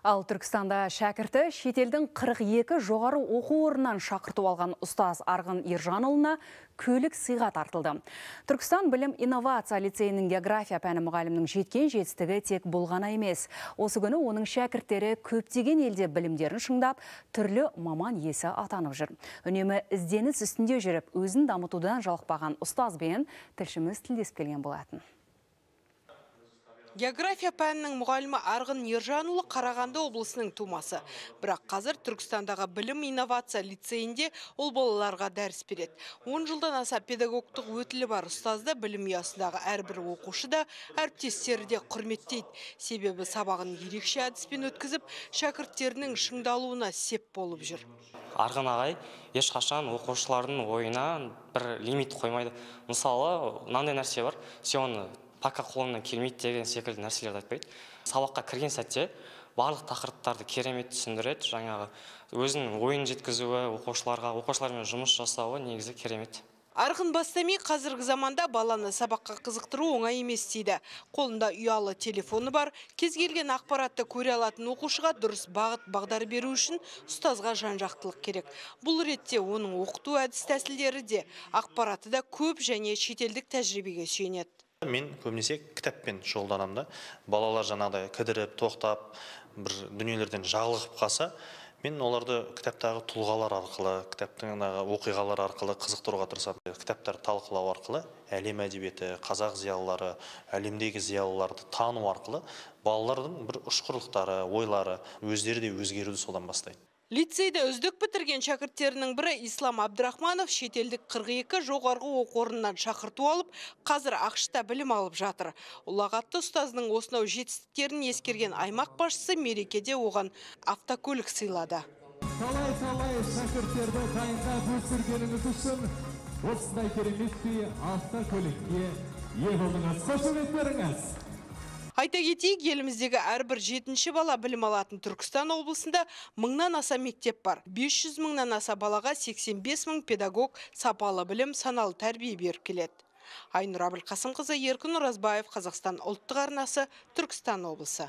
Ал Түркістанда шәкірті шетелдің 42 жоғары оқу орнынан шақырту алған ұстаз Арғын Ержанұлына көлік сыйға тартылды. Түркістан білім инновация лицейінің география пәні мұғалімнің жеткен жетістігі тек бұл ғана емес. Осы күні оның шәкірттері көптеген елде білімдерін шыңдап, түрлі маман иесі атанып жүр. Үнемі ізденіс үстінде жүріп, өзін дамытудан жалықпаған ұстазбен тілшіміз тілдесіп келген болатын. География пәнінің мұғалімі Арғын Ержанұлы Қарағанды облысының тумасы. Бірақ қазір Түркістандағы білім инновация лицейінде ол балаларға дәріс береді. 10 жылдан аса педагогтық өтілі бар ұстазды білім ұясындағы әрбір оқушы да, әріптестері де құрметтейді. Себебі сабағын ерекше әдіспен өткізіп, шәкірттерінің шыңдалуына сеп болып жүр. Арғын ағай ешқашан оқушылардың ойына бір лимит қоймайды. Мысалы, мынандай нәрсе бар, сен оны пока қолыңнан келмейді деген секілді нәрселерді айтпайды. Сабаққа кірген сәтте барлық тақырыптарды керемет түсіндіреді. Жаңағы өзінің ойын жеткізуі, оқушылармен жұмыс жасауы негізі керемет. Арғын Бастами қазіргі заманда баланы сабаққа қызықтыру оңай емес дейді. Қолында ұялы телефоны бар, кез келген ақпаратты көре алатын оқушыға дұрыс бағыт-бағдар беру үшін ұстазға жан-жақтылық керек. Бұл ретте оның оқыту әдіс тәсілдері де, ақпараты да көп және шетелдік тәжірибеге сүйенеді. Мен көбінесе кітаппен шұғылданамын. Балалар жаңағыдай кідіріп, тоқтап, бір дүниелерден жағылып қалса, мен оларды кітаптағы тұлғалар арқылы, кітаптың оқиғалар арқылы қызықтыруға тырысамын. Кітаптар талқылау арқылы әлем әдебиеті, қазақ зиялылары, әлемдегі зиялыларды тану арқылы балалардың бір ұшқырлықтары, ойлары, өздері де өзгеруді содан бастайды. Лицейді үздік бітірген шәкірттерінің бірі Ислам Абдрахманов шетелдік 42 жоғарғы оқу орнынан шақырту алып, қазір ақшта білім алып жатыр. Ұлағатты ұстазының осынау жетістіктерін ескерген аймақ басшысы мерекеде оған автокөлік сыйлады. Талай шәкірттерді дайындап өсіргеніңіз үшін осындай керемет автокөлікке ие болдыңыз. Қошеметтеріңіз. Айта кетейік, еліміздегі әрбір 7-ші бала білім алатын Түркістан облысында 1000-нан аса мектеп бар. 500 мыңнан аса балаға 85 мың педагог сапалы білім, саналы тәрбие беріп келеді. Айнұр Абылқасымқызы, Еркін Оразбаев, Қазақстан ұлттық арнасы, Түркістан облысы.